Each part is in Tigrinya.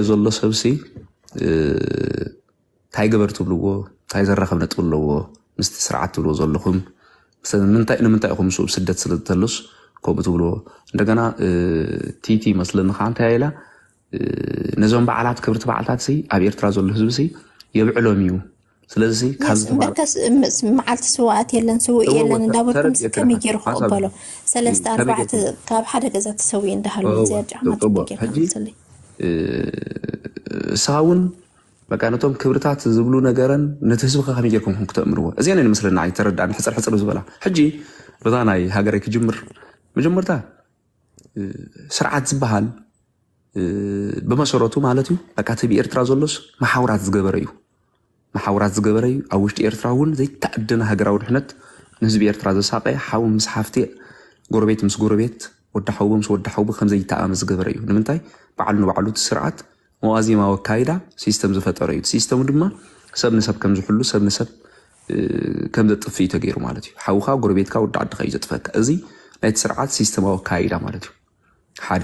ዘሎ ሰብሲ እንታይ ግበር ትብልዎ፣ እንታይ ዘራኸብ ነጥቢ ኣለዎ ምስቲ ስርዓት ትብልዎ ዘለኹም? ንምንታይ ኢኹም ምስኡ ስደት ስለ ዝተሉስ ከምኡ ትብልዎ? እንደገና ቲቲ መስለኒ ከዓ እንታይ ኢላ፣ ነዞም በዓላት ክብርቲ በዓልታት ሲ ኣብ ኤርትራ ዘሎ ህዝቢ ሲ የብዕሎም እዩ። ስለዚ ካብዚ ተባ- መዓልቲ ስዋኣት የለን፣ ስውእ የለን እንዳበልኩም ከመይ ገይሩ ክቕበሎ? ሰለስተ ኣርባዕተ ካብ ሓደ ገዛ ተሰውኡ እንዳሃሉ እዚኣ ጫማ ጽቡቅ ጌርካ ሕጂ እሳ እውን በቃ ነቶም ክብርታት ዝብሉ ነገረን ነቲ ህዝቢ ከ ከመይ ጌርኩም ከም ክተእምርዎ እዚአን እየን መስለና ኣይተረዳእን ሕፅር ሕፅር ዝበላ። ሕጂ በዛ ናይ ሃገረይ ክጅምር። መጀመርታ ስርዓት ዝበሃል ብመሰረቱ ማለት እዩ በቃ እቲ ብኤርትራ ዘሎስ መሓውራት ዝገበረ እዩ። መሓውራት ዝገበረ እዩ። ኣብ ውሽጢ ኤርትራ እውን ዘይተኣደነ ሃገራዊ ድሕነት ንህዝቢ ኤርትራ ዘሳቀየ ሓው ምስ ሓፍቲ፣ ጎረቤት ምስ ጎረቤት፣ ወዲ ሓውቦ ምስ ወዲ ሓውቦ ከም ዘይተኣመ ዝገበረ እዩ። ንምንታይ? ባዕሉ ንባዕሉ እቲ ስርዓት መዋዜማዊ ኣካይዳ ሲስተም ዝፈጠረ እዩ። እቲ ሲስተሙ ድማ ሰብ ንሰብ ከም ዝሕሉ፣ ሰብ ንሰብ ከም ዘጥፍእ እዩ ተገይሩ ማለት እዩ። ሓውኻ ጎረቤትካ ወዲ ዓድኻ እዩ ዘጥፈካ። እዚ ናይቲ ስርዓት ሲስተማዊ ኣካይዳ ማለት እዩ። ሓደ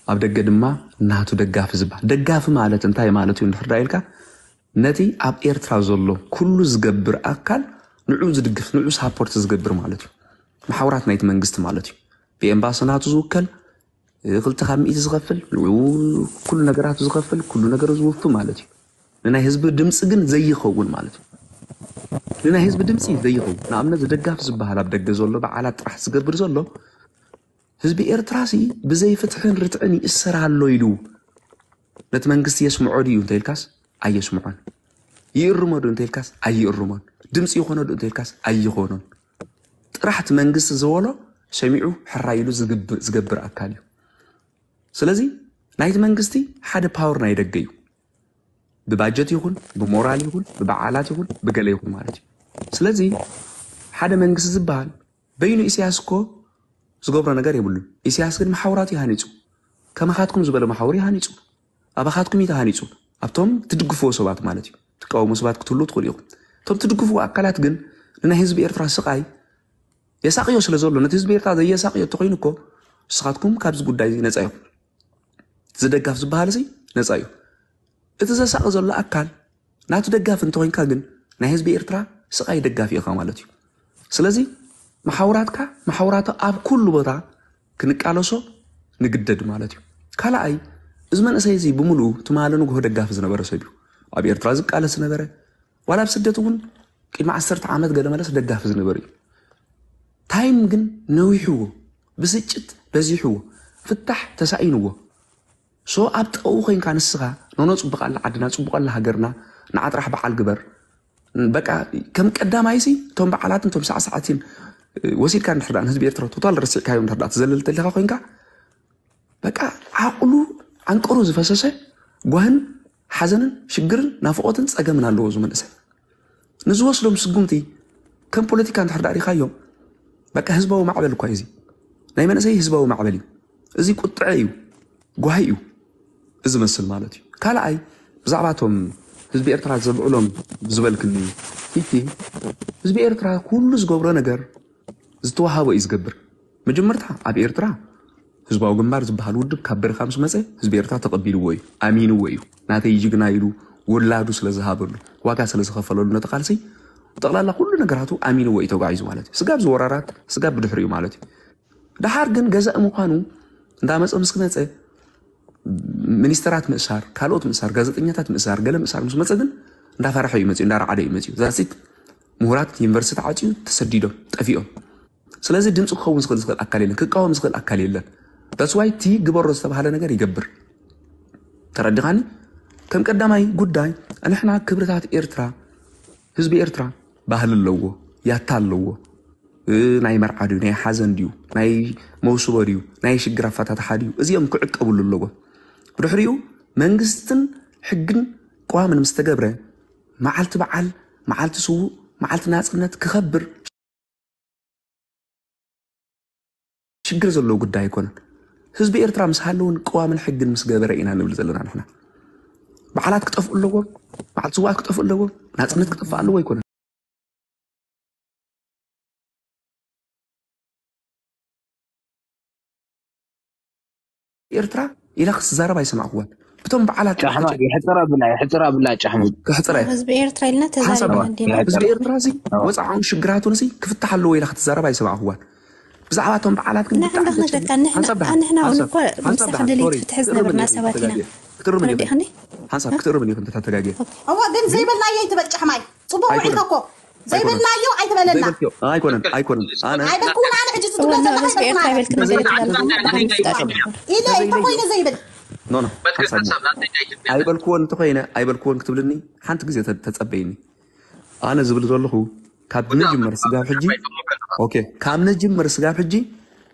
ኣብ ደገ ድማ ናቱ ደጋፊ ዝበሃል። ደጋፊ ማለት እንታይ ማለት እዩ እንድሕር ዳ ኢልካ፣ ነቲ ኣብ ኤርትራ ዘሎ ኩሉ ዝገብር ኣካል ንዑ ዝድግፍ፣ ንዑ ሳፖርት ዝገብር ማለት እዩ። መሓውራት ናይቲ መንግስቲ ማለት እዩ። ብኤምባሲ ናቱ ዝውከል፣ ክልተ ካብ ሚእቲ ዝኸፍል፣ ንዑ ኩሉ ነገራቱ ዝኸፍል፣ ኩሉ ነገሩ ዝውፊ ማለት እዩ። ንናይ ህዝቢ ድምፂ ግን ዘይኸውን ማለት እዩ። ንናይ ህዝቢ ድምፂ ዘይኸውን፣ ንኣብነት ደጋፊ ዝበሃል ኣብ ደገ ዘሎ በዓላት ጥራሕ ዝገብር ዘሎ ህዝቢ ኤርትራ ሲ ብዘይ ፍትሕን ርትዕን ይእሰር ኣሎ ኢሉ ነቲ መንግስቲ የስምዖ ድዩ እንተኢልካስ ኣየስምዖን። ይእርሞ ዶ እንተኢልካስ ኣይእርሞን። ድምፂ ይኾኖ ዶ እንተኢልካስ ኣይኾኖን። ጥራሕ እቲ መንግስቲ ዝበሎ ሰሚዑ ሕራይ ኢሉ ዝግብ- ዝገብር ኣካል እዩ። ስለዚ ናይቲ መንግስቲ ሓደ ፓወር ናይ ደገ እዩ። ብባጀት ይኹን ብሞራል ይኹን ብበዓላት ይኹን ብገለ ይኹን ማለት እዩ። ስለዚ ሓደ መንግስቲ ዝበሃል በይኑ ኢሳያስ እኮ ዝገብሮ ነገር የብሉን። ኢሳያስ ግን መሓውራት እዩ ሃኒፁ። ከማኻትኩም ዝበለ መሓውር እዩ ሃኒፁ። ኣባኻትኩም እዩ ተሃኒፁ። ኣብቶም ትድግፍዎ ሰባት ማለት እዩ። ትቃወሙ ሰባት ክትህሉ ትኽእሉ ኢኹም። እቶም ትድግፍዎ ኣካላት ግን ንናይ ህዝቢ ኤርትራ ስቓይ የሳቕዮ ስለ ዘሎ ነቲ ህዝቢ ኤርትራ ዘየሳቕዮ እንተኾይኑ እኮ ንስኻትኩም ካብዚ ጉዳይ እዚ ነፃ ኢኹም። ዝደጋፍ ዝበሃል እዚ ነፃ እዩ። እቲ ዘሳቒ ዘሎ ኣካል ናቱ ደጋፊ እንተኾይንካ ግን ናይ ህዝቢ ኤርትራ ስቓይ ደጋፊ ኢኻ ማለት እዩ። ስለዚ መሓውራትካ መሓውራቱ ኣብ ኩሉ ቦታ ክንቃለሶ ንግደድ ማለት እዩ። ካልኣይ እዚ መንእሰይ እዚ ብምሉኡ ትማሊ ንግሆ ደጋፊ ዝነበረ ሰብ እዩ። ኣብ ኤርትራ ዝቃለስ ዝነበረ ዋላ ኣብ ስደት እውን ቅድሚ ዓሰርተ ዓመት ገለ መለስ ደጋፊ ዝነበረ እዩ። ታይም ግን ነዊሕዎ፣ ብስጭት በዚሕዎ፣ ፍታሕ ተሳኢንዎ። ሶ ኣብ ጥቕኡ ኮይንካ ንስኻ ኖኖ ጽቡቕ ኣላ ዓድና፣ ጽቡቕ ኣላ ሃገርና፣ ንዓ ጥራሕ በዓል ግበር። በቃ ከም ቀዳማይሲ እቶም በዓላትን እቶም ሳዕሳዕትን ወሲድካ እንድሕር ደኣ ንህዝቢ ኤርትራ ቶታል ረሲዕካዮ እንድሕር ደኣ ትዘልል ተሊኻ ኮይንካ በቃ ዓቕሉ ዓንቀሩ ዝፈሰሰ ጓህን ሓዘንን ሽግርን ናፍቖትን ጸገምን ኣለዎ እዚ መንእሰይ። ንዝወስዶም ስጉምቲ ከም ፖለቲካ እንድሕር ደኣ ሪኻዮም በቃ ህዝባዊ ማዕበል እኳ እዩ እዚ ናይ መንእሰይ ህዝባዊ ማዕበል እዩ። እዚ ቁጥዐ እዩ፣ ጓሂ እዩ እዚ መስል ማለት እዩ። ካልኣይ ብዛዕባ እቶም ህዝቢ ኤርትራ ዘብዕሎም ዝበልክኒ ፊቲ ህዝቢ ኤርትራ ኩሉ ዝገብሮ ነገር ዝተዋሃቦ እዩ ዝገብር። መጀመርታ ኣብ ኤርትራ ህዝባዊ ግንባር ዝበሃል ውድብ ካብ በረኻ ምስ መጸ ህዝቢ ኤርትራ ተቐቢልዎ እዩ፣ ኣሚንዎ እዩ። ናተይ ጅግና ኢሉ ወላዱ ስለ ዝሃበሉ ዋጋ ስለ ዝኸፈለሉ ነቲ ቃልሲ ጠቕላላ ኩሉ ነገራቱ ኣሚንዎ እዩ ተጓዒዙ ማለት እዩ። ስጋብ ዝወራራት ስጋብ ብድሕሪኡ ማለት እዩ። ደሓር ግን ገዛእ ምዃኑ እንዳመጸ ምስ ክመጸ ሚኒስተራት ምእሳር፣ ካልኦት ምእሳር፣ ጋዜጠኛታት ምእሳር፣ ገለ ምእሳር ምስ መጸ ግን እንዳፈረሐ እዩ መጽዩ፣ እንዳረዓደ እዩ መጽዩ። ዛሲት ምሁራት ዩኒቨርሲቲ ተዓጽዩ ተሰዲዶም ጠፊኦም። ስለዚ ድምፂ ክኸውን ዝኽእል ዝኽእል ኣካል የለን፣ ክቃወም ዝኽእል ኣካል የለን። That's why እቲ ግበሮ ዝተባሃለ ነገር ይገብር። ተረዲኻኒ? ከም ቀዳማይ ጉዳይ ንሕና ክብርታት ኤርትራ፣ ህዝቢ ኤርትራ ባህሊ ኣለዎ፣ ያታ ኣለዎ። ናይ መርዓ ድዩ፣ ናይ ሓዘን ድዩ፣ ናይ መውስቦ ድዩ፣ ናይ ሽግር ኣፈታትሓ ድዩ፣ እዚኦም ክዕቀብሉ ኣለዎም። ብድሕሪኡ መንግስትን ሕግን ቅዋምን ምስ ተገብረ መዓልቲ በዓል፣ መዓልቲ ስዉእ፣ መዓልቲ ናጽነት ክኸብር ሽግር ዘለዎ ጉዳይ ኣይኮነን። ህዝቢ ኤርትራ ምስ ሃለውን ቅዋምን ሕግን ምስ ገበረ ኢና ንብል ዘለና ንሕና። በዓላት ክጠፍኡ ኣለዎም፣ በዓል ስውኣት ክጠፍኡ ኣለዎም፣ ናጽነት ክጠፍእ ኣለዎ ኣይኮነን። ኤርትራ ኢላ ክትዛረብ ኣይሰማዕኩዋን። እቶም በዓላት ጫሕማ ይሕፅር ኣብላ፣ ይሕፅር ኣብላ ጫሕማ። ክሕፅረ። ህዝቢ ኤርትራ ኢልና ተዛሪብና እንዲና። ህዝቢ ኤርትራ እዚ ወፃዓውን ሽግራቱን እዚ ክፍታሕ ኣለዎ ኢላ ክትዛረብ ኣይሰማዕኽዋን። ብዛዕባ እቶም በዓላት ግን ንሕና ብጣዕሚ ክንደካ፣ ንሕና፣ ሓንሳብ ደሓን፣ ንሕና እውን ሓንሳብ፣ እኮ ሓንሳብ ምሳሕ ደሓን፣ ደሊት ሶሪ፣ ፍትሒ ክትእርምኒ ዝነበርና ኢኹ፣ ሰባት ኢና። ክትእርምኒ ኢኻ። ክትእርምኒ ኢኻ። ሓንሳብ፣ ክትእርምኒ ኢኹ እንተተጋግየ። እዋ፣ ግን ዘይበልናዮ ኣይትበል ጫሕማይ። ጽቡቕ ውዒልካ እኮ። ዘይበልናዮ ኣይትበለና። ዘይበልክዮ። ኣይኮነን፣ ኣይኮነን። ኣነ ኣይበልኩን፣ ኣነ ሕጂ ዝትብሎ ዘለኻ ህዝቢ ኤርትራ ኣይበልክን። ኣይበልክን። ኢለ እንተኾይነ ዘይብል። ኖ፣ ኖ፣ ሓንሳብ። ኣይበልክዎን እንተኾይነ፣ ኣይበልክዎን ክትብልኒ ሓንቲ ግዜ ተ-፣ ተጸበይኒ። ኣነ ዝብል ዘለኹ ካብ ንጅምር ስጋብ ሕጂ፣ ኦኬ፣ ካብ ንጅምር ስጋብ ሕጂ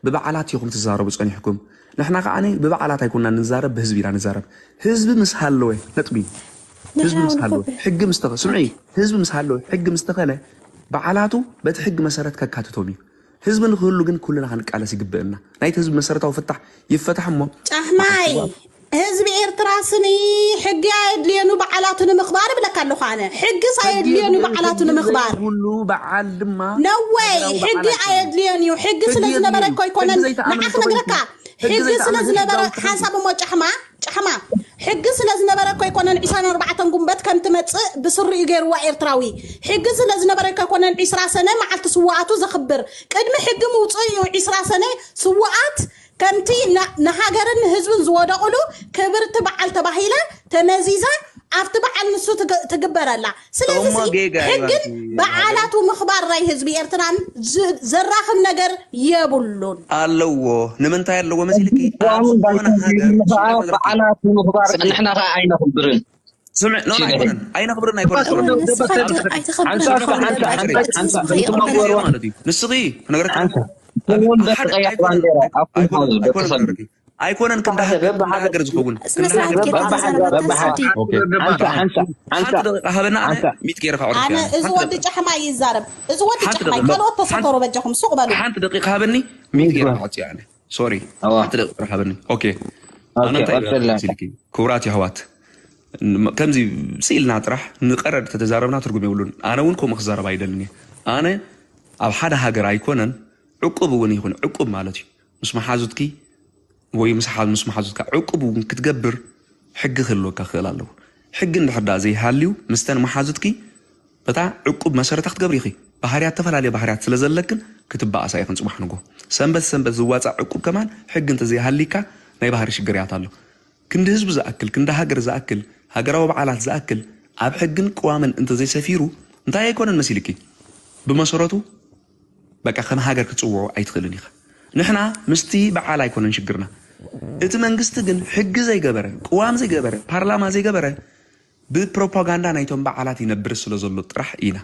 ብበዓላት ኢኹም ትዛረቡ ጸኒሕኩም። ንሕና ከዓኒ ብበዓላት ኣይኮንና ንዛረብ፣ ብህዝቢ ኢና ንዛረብ። ህዝቢ ምስ ሃለወ፣ ነጥቢ። ህዝቢ ንሕና ምስ እውን ሃለወ፣ እኮ ብ- ሕጊ ምስ ተኸ-፣ ስምዒ፣ ህዝቢ ምስ ሃለወ፣ ሕጊ ምስ ተኸለ፣ በዓላቱ በቲ ሕጊ መሰረት ከካትቶም እዩ። ህዝቢ ንክህሉ ግን ኩልና ክንቃለስ ይግብእና። ናይቲ ህዝቢ መሰረታዊ ፍታሕ ይፈታሕ እሞ ጫሕማይ፣ ህዝቢ ኤርትራ ስኒ ሕጊ ኣየድልየኑ በዓላቱ ንምኽባር እብለካ ኣለኹ ኣነ። ሕጊስ ኣየድልየኑ በዓላቱ ንምኽባር። ዘይብሉ በዓል ድማ ነወይ፣ ሃገራዊ ሕጊ በዓላት እዮም። ኣየድልየን እዩ። ሕጊ ስለ ሕጊ ዝነበረ የድልዩ። እኮ ኣይኮነን። ሕጊ ዘይተኣምን ንዓ እንተኾይኑ፣ ክነግረካ። ሕጊ ሕጊ ስለ ዘይተኣምን ዝነበረ ሕጋዊ ሓንሳብ እሞ ጫሕማ፣ ጫሕማ። ሕጊ ስለ ዝነበረ እኮ ኣይኮነን ዒስራን ኣርባዕተን ጉንበት ከም ትመጽእ ብስሩ እዩ ገይርዋ ኤርትራዊ። ሕጊ ስለ ዝነበረ እኮ ኣይኮነን ዒስራ ሰነ መዓልቲ ስውኣቱ ዘኽብር። ቅድሚ ሕጊ ምውጽኡ እዩ ዒስራ ሰነ ስውኣት ከምቲ ና-፣ ንሃገርን ንህዝብን ዝወደቑሉ ክብርቲ በዓል ተባሂላ ተመዚዛ ኣብቲ በዓል ንሱ ትግ-፣ ትግበረላ። ስለዚ እሞ ሲ ጌጋ እዩ ሕግን ኣንቲ በዓላቱ ምኽባር ናይ ህዝቢ ኤርትራን ዝ-፣ ዘራኽብ ነገር የብሉን። ኣለዎ። ንምንታይ ኣለዎ መሲልኪ? ኣብ ኣሁን ዝኾነ ባይኮን ሃገር ይልፋ ሽግር በዓላቱ ምኽባር ንሕና ኸዓ ኣይነኽብርን። ስምዕ፣ ኖ፣ ኖ፣ ሽግር ኣይኮነን። ኣይነኽብርን ኣይኮነን። ኣይኮነን፣ ንስኻ ት-፣ ኣይተኸብርን ሓንሳብ፣ ኢኻ ሓንሳብ፣ ንደቂ ሓንሳብ፣ ሓንሳብ፣ ሓንሳብ፣ ሓንሳብ፣ ማለት እዩ። ንስኺ ክነግረካ ሓንሳብ። ኣብ፣ እውን ኣብ ሓደ በተቐያሕ ኣይኮነን፣ ባንዴራ፣ ኣብ ኣይኮነን፣ ኩሉ ኣይኮነን፣ ዝብቅሳ። ኣይኮነን። ኣይኮነን ክንዲ በዓል ሃገር፣ በባሃገር ክንዲ ሃገር ዝኾውን፣ ስነ ክንዲ ስርዓት ሃገር ጌርካ በባሃገር፣ ተዛረብ በባሃገር። ኣትሓስብ። ኦኬ። ሓንሳ፣ ሓንሳ፣ ሓንሳ፣ ሓንሳ። ሓንቲ ደቂቃ ሃበና፣ ኣነ ሓንሳ። ሚት ጌረ ከዕርፍ ሓንሳ። ኣነ እያ። እዚ ሓንቲ ወዲ ደቂቃ። ጫሕማ ይዛረብ። እዚ ወዲ ሓንቲ ጫሕማ ደቂቃ። ካልኦት ተሰተሩ በጃኹም፣ ሱቕ በሉ። ሓንቲ ደቂቃ ሃበኒ፣ ሚት ጌረ ሚት ጌረ። ከዕጽዮ ኣነ። ሶሪ። ኣዋ። ሓንቲ ደቂቃ ሃበኒ። ኦኬ። ኣነ ኦኬ፣ እንታይ ቀጽል። ኢለ መሲልኪ? ክቡራት የሕዋት፣ ን-፣ ከምዚ ስኢልና ጥራሕ ንቀረድ ተተዛረብና ትርጉም የብሉን። ኣነ እውን ከምኡ ክዛረብ ኣይደልን እየ። ኣነ ኣብ ሓደ ሃገር ኣይኮነን፣ ዕቁብ እውን ይኹን፣ ዕቁብ ማለት እዩ። ምስ መሓዙትኪ ወይ ምስ ሓ-፣ ምስ መሓዙትካ ዕቁብ እውን ክትገብር ሕጊ ክህልወካ ክኽእል ኣለዎ። ሕጊ እንድሕር ደኣ ዘይሃልዩ፣ ምስተን መሓዙትኪ በታ ዕቁብ መሰረታ ክትገብሪ ኢኺ። ባህርያት፣ ዝተፈላለየ ባህርያት ስለ ዘለክን ክትበኣሳ ኢኽን ጽባሕ ንግሆ። ሰንበት ሰንበት ዝዋጻእ ዕቁብ ከማን ሕጊ እንተዘይሃልይካ ናይ ባህሪ ሽግርያት ኣሎ። ክንዲ ህዝቢ ዝኣክል፣ ክንዲ ሃገር ዝኣክል፣ ሃገራዊ በዓላት ዝኣክል ኣብ ሕግን ቅዋምን እንተዘይሰፊሩ እንታይ ኣይኮነን መሲልኪ? ብመሰረቱ በቃ ከም ሃገር ክትጽውዖ ኣይትኽእልን ኢኻ። ንሕና ምስቲ በዓል ኣይኮነን ሽግርና። እቲ መንግስቲ ግን ሕጊ ዘይገበረ፣ ቅዋም ዘይገበረ፣ ፓርላማ ዘይገበረ ብፕሮፓጋንዳ ናይቶም በዓላት ይነብር ስለ ዘሎ ጥራሕ ኢና።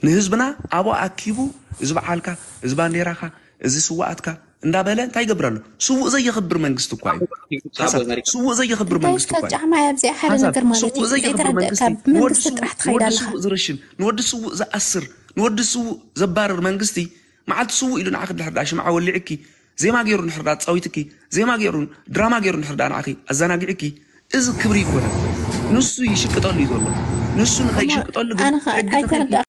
ንህዝብና ኣብኡ ኣኪቡ፣ እዚ በዓልካ፣ እዚ ባንዴራኻ፣ እዚ ስውኣትካ እንዳበለ እንታይ ይገብር ኣሎ? ስውእ ዘየኽብር መንግስቲ እኳ እዩ። ሓንሳብ፣ ስውእ ዘየኽብር እንታይ መንግስቲ ኢልካ እኳ እዩ። ጫማ ኣብዚ ሓደ ሓንሳብ፣ ነገር ማለት ስውእ እዩ። ዘየኽብር ዘይተረደእካ መንግስቲ፣ ብመንግስቲ ንወዲ ስውእ፣ ጥራሕ ትኸይድ ንወዲ ኣለኻ። ስውእ ዝረሽን፣ ንወዲ ስውእ ዝኣስር፣ ንወዲ ስውእ ዘባርር መንግስቲ፣ መዓልቲ ስውእ ኢሉ ንዓኺ ድሕር ደኣ ሽምዓ ወሊዕኪ፣ ዜማ ገይሩ እንድሕር ደኣ ኣጻዊትኪ፣ ዜማ ገይሩ፣ ድራማ ገይሩ እንድሕር ደኣ ንዓኺ ኣዘናጊዕኪ፣ እዚ ክብሪ ይኮነን። ንሱ ይሽቅጠሉ እዩ ዘሎ። ንሱ ንኸይሽቅጠሉ ግን ኣነ ኸ ሕጊ ተኸልኪ ኣይተረዳእካን።